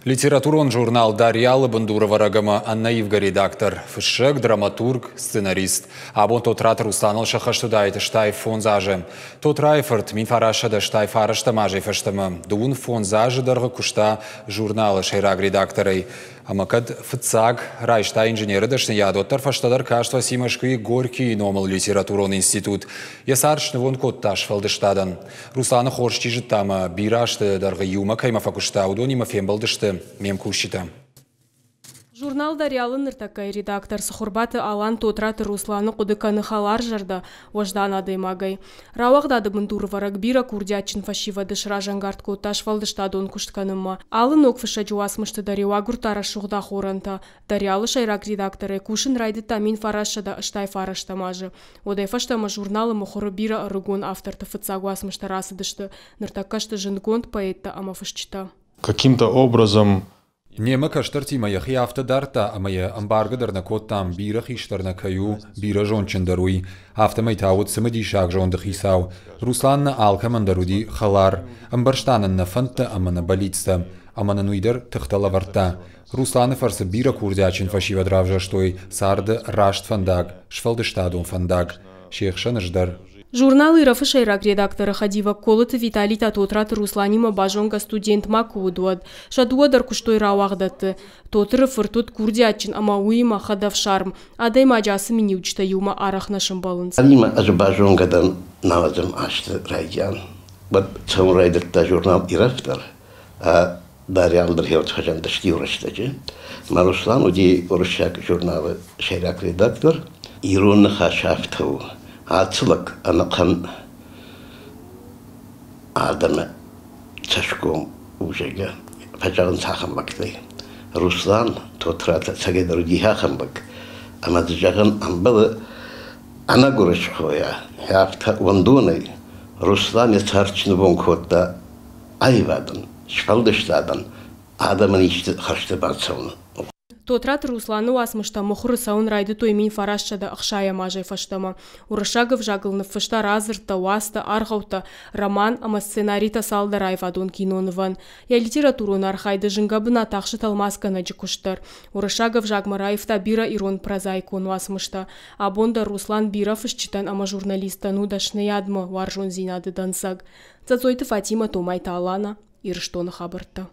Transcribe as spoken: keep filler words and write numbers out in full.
Литературон журнал «Дарьял»-ы бындурӕвӕрӕг ӕмӕ ӕнӕивгӕ редактор, фыссӕг, драматург, сценарист. Абон Тотраты Русланыл сӕххӕст уыдаид стай фондз азы. Тотрайы фырт мин фарастсӕдӕ стай фарӕстӕм азӕй фӕстӕмӕ дыууын фондз азы дӕргъы куыста журналы сӕйраг редакторӕй. Ӕмӕ кӕд фыццаг райста инженеры дӕсныйад, уӕддӕр фӕстӕдӕр каст фӕци Мӕскуыйы Горькийы номыл литературон институт. Йӕ цард снывонд кодта сфӕлдыстадӕн. Русланы хорз чи зыдта ӕмӕ бирӕ азты дӕргъы иумӕ кӕимӕ фӕкуыста, уыдонимӕ фембӕлдысты ме мкусджытӕ. Журнал «Дарьял»-ы ныртӕккӕйы редактор Цыхуырбаты Алан Тотраты Русланы хъуыды кӕны хӕларзӕрдӕ, уӕздан адӕймагӕй. Рауагъдады бындурӕвӕрӕг бирӕ курдиатджын фӕсивӕды сразӕнгард кодта сфӕлдыстадон куыст кӕнынмӕ. Алы ног фыссӕджы уацмысты дӕр-иу агуырдта рӕсугъд ахорӕнтӕ. «Дарьял»-ы сӕйраг редакторӕй кусын райдыдта мин фарастсӕдӕ ӕстай фарӕстӕм азы. Уӕдӕй фӕстӕмӕ журналы мыхуыры бирӕ ӕрыгон авторты фыццаг уацмыстӕ рацыдысты. Ныртӕккӕ сты зындгонд поэттӕ ӕмӕ фысджытӕ. Каким-то образом Немӕ кӕстӕртимӕ йӕхи афтӕ дардта, ӕмӕ йӕ ӕмбаргӕ дӕр нӕ кодтам, бирӕ хистӕр нӕ кӕй у, бирӕ зондджындӕр уый. Афтӕмӕй та уыд цымыдисаг зонды хицау. Руслан нӕ алкӕмӕн дӕр уыди хӕлар, ӕмбӕрста нын нӕ фӕндтӕ ӕмӕ нӕ бӕллицтӕ, ӕмӕ нын уый дӕр тыхтӕ лӕвӕрдта. Русланы фӕрцы бирӕ курдиатджын фӕсивӕд равзӕрстой царды раст фӕндаг, сфӕлдыстадон фӕндаг. Се хсӕн ӕз дӕр. Журнал «Ирӕф»-ы сӕйраг редакторы хӕдивӕг Колыты Витали та Тотраты Русланимӕ базонгӕ студент ма куы уыд, уӕд. Сӕ дыууӕ дӕр куыстой рауагъдӕтты. Тотыры фырт уыд курдиатджын ӕмӕ уыимӕ хӕдӕфсарм. Адӕймаджы ацы миниуджытӕ иумӕ арӕх нӕ сӕмбӕлынц. Алимӕ ӕз базонгӕ дӕн нӕуӕдзӕм азты райдиан. Уӕд цӕуын райдыдта журнал «Ирӕф» дӕр. Дарьял дӕр хеуат фӕзындысты иу рӕстӕджы. Мӕ Руслан уыди уырыссаг журналы сӕйраг редактор. Ирон ныхас афтӕ у. Ацы лӕг ӕнӕхъӕн адӕмы цӕсгом у, зӕгъгӕ, фӕзӕгъынц ахӕм лӕгтӕй. Руслан Тотраты ӕцӕгӕйдӕр уыди ахӕм лӕг, ӕмӕ дзы зӕгъын ӕмбӕлы ӕнӕгуырысхойӕ, афтӕ уӕндонӕй. Руслан йӕ цард снывонд кодта аивадӕн, сфӕлдыстадӕн, адӕмӕн исты хӕрзты бацӕуыны. Тотраты Русланы уацмыстӕ мыхуыры цӕуын райдыдтой мин фарастсӕдӕ ӕхсайӕм азӕй фӕстӕмӕ. Уырыссаг ӕвзагыл ныффыста радзырдтӕ, уацтӕ, аргъӕуттӕ, роман ӕмӕ сценаритӕ цалдӕр аивадон кинонывӕн. Йӕ литературон архайды зынгӕ бынат ахсы тӕлмацгӕнӕджы куыст дӕр. Уырыссаг ӕвзагмӕ раивта бирӕ ирон прозаикон уацмыстӕ. Абон дӕр Руслан бирӕ фысджытӕн ӕмӕ журналисттӕн у дӕсныйадмӕ уарзондзинады дӕнцӕг. Цӕцойты Фатимӕ, Томайты Алана, Ирыстоны хабӕрттӕ.